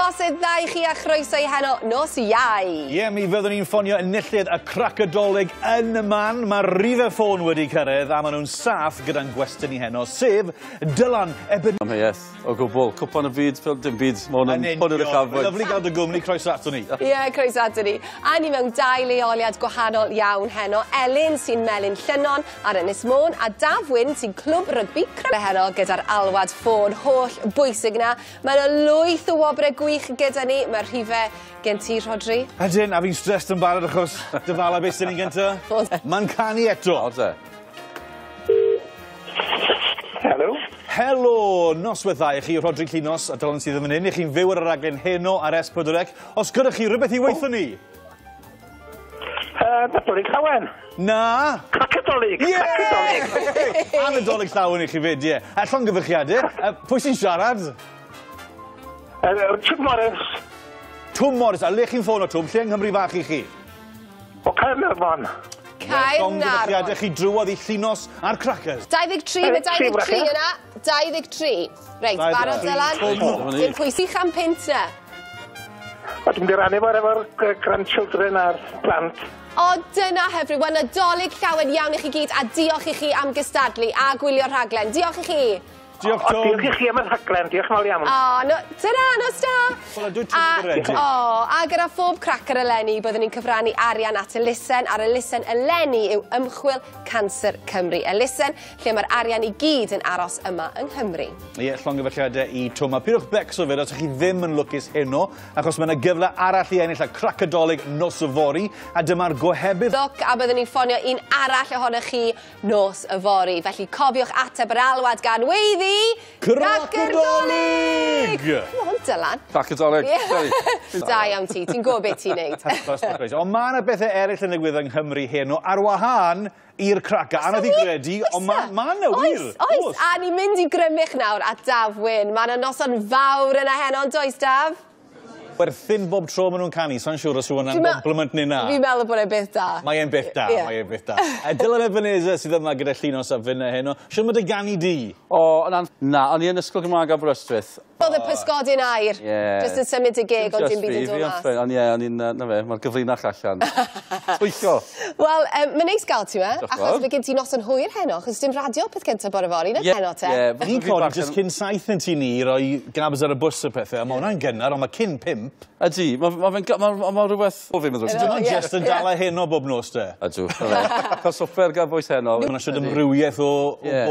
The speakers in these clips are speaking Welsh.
Noswaith dda i chi a chroeso i heno nos Iau. Ie, mi fyddwn ni'n ffonio enillydd y Crac y Dolig yn y man. Mae rhifau ffôn wedi cyrraedd a maen nhw'n saff gyda'n gwestwn ni heno, sef Dylan Eben... Amheuaeth, o gwbl. Cwpan y byd, dim byd. Mae hwn yn hwn yw'r uchafbwynt. Lyfli gael dy gwmni, croeso ato ni. Ie, croeso ato ni. A ni mewn dau leoliad gwahanol iawn heno. Elin sy'n Melin Llynnon ar Ynys Môn a Daf Wyn sy'n Clwb Rygbi Cymru heno gyda'r alwad ffôn holl bwysig na. Mae yna lwyth o wobrau gwych gyda ni. Mae'r rhifau gen ti, Rhodri. Ydyn, a fi'n stressed yn barod achos dyfala beth sy'n ni'n gynta. Mae'n canu eto. Helo. Helo, noswaith dda i chi, Rhodri Llinos a Dylan sydd yn fan hyn. I chi'n fyw ar y raglen heno ar S4C. Os gyda chi rhywbeth i weithio ni? Nadolig Llawen. Na. Crac y Dolig. Crac y Dolig. A Nadolig Llawen i chi fyd, ie. A llongyfarchiadau. Pwy sy'n siarad? Twm Morris. Twm Morris. A le chi'n ffôn o Twm? Lle yng Nghymru fach i chi? O Caernarfon. Caernarfon. Llongyfarchiadau chi drwodd i Llinos a'r Crackers. 23, mae 23 yna. 23. Reit, barod Dylan. Dim pwysig am pint na. O, dwi'n mynd i rannu efo'r grandchildren a'r plant. O, dyna hyfryd. Wel, Nadolig Llawen iawn i chi gyd, a diolch i chi am gystadlu a gwylio'r rhaglen. Diolch i chi. Diolch, Tom. Diolch i chi am y rhaglen. Diolch yn fawr iawn. O, no, dyna, nos da. Wel, dwi'n teimlo. O, a gyda phob cracker eleni, byddwn ni'n cyfrannu arian at elusen, a'r elusen eleni yw Ymchwil Canser Cymru. Elusen lle mae'r arian i gyd yn aros yma yng Nghymru. Ie, llongyfarchiadau i Twm. A pidwch becso fyd os ydych chi ddim yn lwcus heno, achos mae yna gyfle arall i ennill y Crac y Dolig nos yfory, a dyma'r gohebydd. Lwc, a byddwn ni'n ffonio un arall ohonoch chi nos yfory. Felly cofiwch ateb yr alwad gan weiddi Crac y Dolig! Come on, Dylan. Crac y Dolig. Da iawn ti, ti'n gwybod beth ti'n neud. Ond mae yna bethau eraill yn digwydd yng Nghymru heno ar wahân i'r craca. Anodd i gredu, ond mae yna wir. Oes, a ni'n mynd i Grymych nawr at Daf Wyn. Mae yna noson fawr yna heno, ond does, Daf? Werthyn bob tro maen nhw'n canu, sa'n siŵr os yw hwnna'n compliment neu na. Fi'n meddwl bod e'n beth da. Mae e'n beth da, mae e'n beth da. Dylan Ebenezer sydd yma gyda Llinos a finne heno. Siwr mae dy ganu di? O, na, o'n i yn Ysgol Gymraeg Aberystwyth. Oedd y pysgodyn aur, jyst yn symud y geg, ond dim byd yn dod mas. Ond ie, o'n i'n, na fe, mae'r gyfrinach allan. Twyllio. Wel, mae'n neis gael ti, achos mae gen ti noson hwyr heno, achos dim radio peth cyntaf bore fory, na heno te. Ni'n codi jyst cyn 7 yn tŷ ni i roi gabs ar y bws a pethau, a mae hwnna'n gynnar, ond mae cyn 5. Ydy, mae rhywbeth o fi'n meddwl. Ti'n nhw'n jyst yn dala heno bob nos te? Ydw, cael swper gan bwys heno. Mae'n siwr amrywiaeth o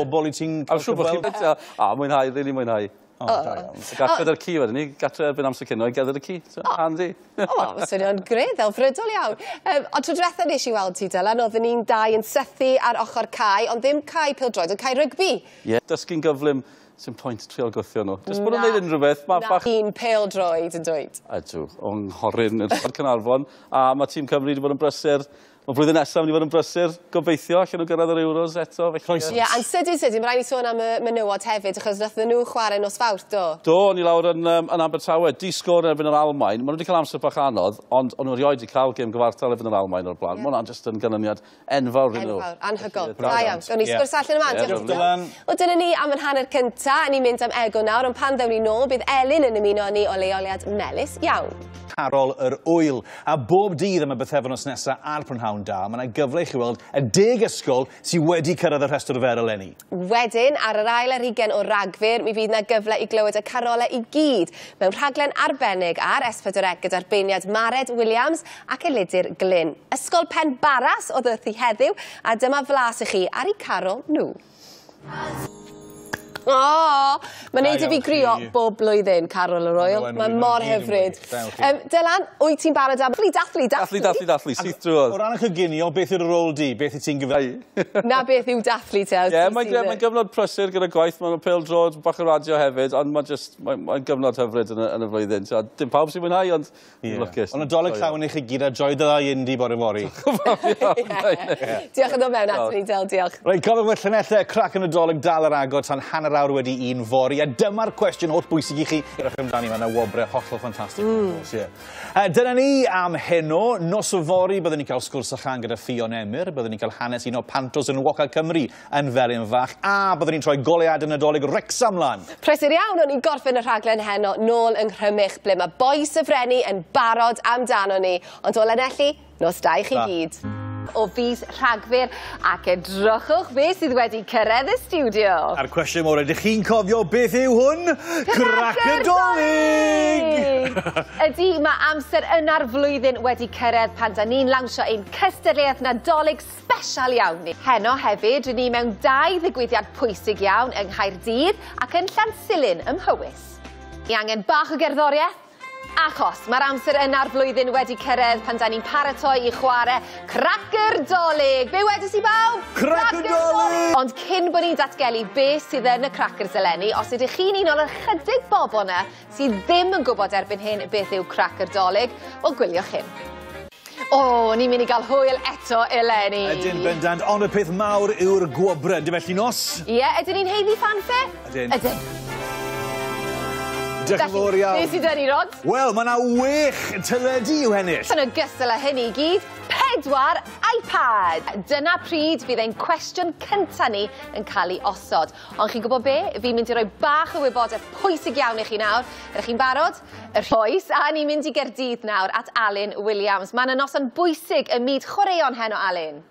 bobl i ti'n cael gweld. A, mwynhau, rili mwynhau. Gatre ar y ci wedyn ni, gatre erbyn amser cino i gerdded y ci. Handy. O, swnio'n grêt, ddelfrydol iawn. Ond tro diwetha nes i weld ti, Dylan, oedden ni'n dau yn sythu ar ochr cae, ond ddim cae pêl-droed, ond cae rygbi. Ie, dysgu'n gyflym, sy'n pwynt trial gwthio nhw. Jyst bod nhw'n gwneud unrhyw beth, mae bach... Un pêl-droed yn dweud. Ydw, o'n nghoryn yn Caernarfon, a mae tîm Cymru wedi bod yn brysur. Mae blwyddyn nesaf mynd i fod yn brysur, gobeithio, allan nhw gyrraedd yr Euros eto. Ie, a'n sydyn, mae rhaid i sôn am y menywod hefyd, achos nathon nhw chwarae nos Fawrth, do? Do, o'n i lawr yn Abertawe, di sgôr erbyn yr Almaen. Maen nhw wedi cael amser bach anodd, ond o'n nhw erioed wedi cael gêm gyfartal erbyn yr Almaen o'r blaen. Mae hwnna'n jyst yn ganlyniad enfawr iddyn nhw. Enfawr, anhygoel. Da iawn. Gawn ni sgwrs allan yma, diolch Dylan. Wel, dyna ni am yn hanner cynta, ni'n mynd am egwyl nawr, ond pan ddewn ni nôl, bydd Elin yn ymuno â ni o leoliad Melys iawn. Carol yr Wyl. A bob dydd am y bythefnos nesaf a'r prynhawn da, mae yna gyfle i chi weld y 10 ysgol sydd wedi cyrraedd y rhestr fer eleni. Wedyn, ar yr ail ar hugain o Ragfyr, mi fydd yna gyfle i glywed y carolau i gyd mewn rhaglen arbennig ar S4C gyda'r beirniad Mared Williams ac Elidir Glyn. Ysgol Pen Barras oedd wrthi heddiw, a dyma flas i chi ar eu carol nhw. O, mae'n neud i fi grio bob blwyddyn, Carol yr Wyl. Mae'n mor hyfryd. Dylan, wyt ti'n barod am dathlu, dathlu, dathlu? Dathlu, dathlu, syth drwodd. O ran y coginio, beth yw'r rôl di? Beth wyt ti'n gyfer? Na beth yw dathlu te? Ie, mae'n gyfnod prysur gyda gwaith, mae'n pêl-droed, bach o radio hefyd, ond mae'n gyfnod hyfryd yn y flwyddyn. Dim pawb sy'n mwynhau, ond lwcus. Ond Nadolig Llawen i chi gyd a joio dy ddau indi bore fory. Diolch yn dod mewn ato ni, Del, diolch. Reit, cofiwch fod llinellau Crac y Nadolig dal ar agor tan 1:15 fory. A dyma'r cwestiwn holl bwysig i chi. Edrych amdani, mae yna wobrau hollol ffantastig. Yeah. Dyna ni am heno. Nos yfory byddwn ni'n cael sgwrs a chân gyda Ffion Emyr. Byddwn ni'n cael hanes un o pantos enwoca Cymru yn Felin Fach. A byddwn ni'n troi goleuadau Nadolig Wrecsam lan. Prysur iawn, o'n i'n gorffen y rhaglen heno nôl yng Nghrymych, ble mae bois y Frenni yn barod amdano ni. Ond o Lanelli, nos da i chi gyd. O fis Rhagfyr, ac edrychwch beth sydd wedi cyrraedd y stiwdio. A'r cwestiwn mawr, ydych chi'n cofio beth yw hwn? Cracyr Dolig! Ydy, mae amser yna'r flwyddyn wedi cyrraedd pan da ni'n lawnsio ein cystadleuaeth Nadolig sbesial iawn ni. Heno hefyd, rydyn ni mewn 2 ddigwyddiad pwysig iawn yng Nghaerdydd ac yn Llansilin ym Mhowys. Ni angen bach o gerddoriaeth, achos mae'r amser yna'r flwyddyn wedi cyrraedd pan da ni'n paratoi i chwarae Cracyr Dolig. Be wedes i bawb? Cracyr Dolig! Ond cyn bod ni'n datgelu beth sydd yn y crackers eleni, os ydych chi'n un o'r ychydig bobl yna sydd ddim yn gwybod erbyn hyn beth yw Cracyr Dolig, wel gwyliwch hyn. O, ni'n mynd i gael hwyl eto eleni. Ydyn, bendant, ond y peth mawr yw'r gwobrau. Yndyfe, Llinos? Ie, ydyn ni'n haeddu fanfare? Ydyn. Ydyn. Diolch yn fawr iawn. Beth sydd 'da ni, Rod? Wel, mae yna 6 teledu i'w hennill. Yn ogystal â hynny i gyd, 4 iPad. Dyna pryd fydd ein cwestiwn cynta ni yn cael ei osod. Ond chi'n gwybod be? Fi'n mynd i roi bach o wybodaeth pwysig iawn i chi nawr. Ydych chi'n barod? Yr oes. A ni'n mynd i Gaerdydd nawr at Alun Williams. Mae yna noson bwysig ym myd chwaraeon heno, Alun.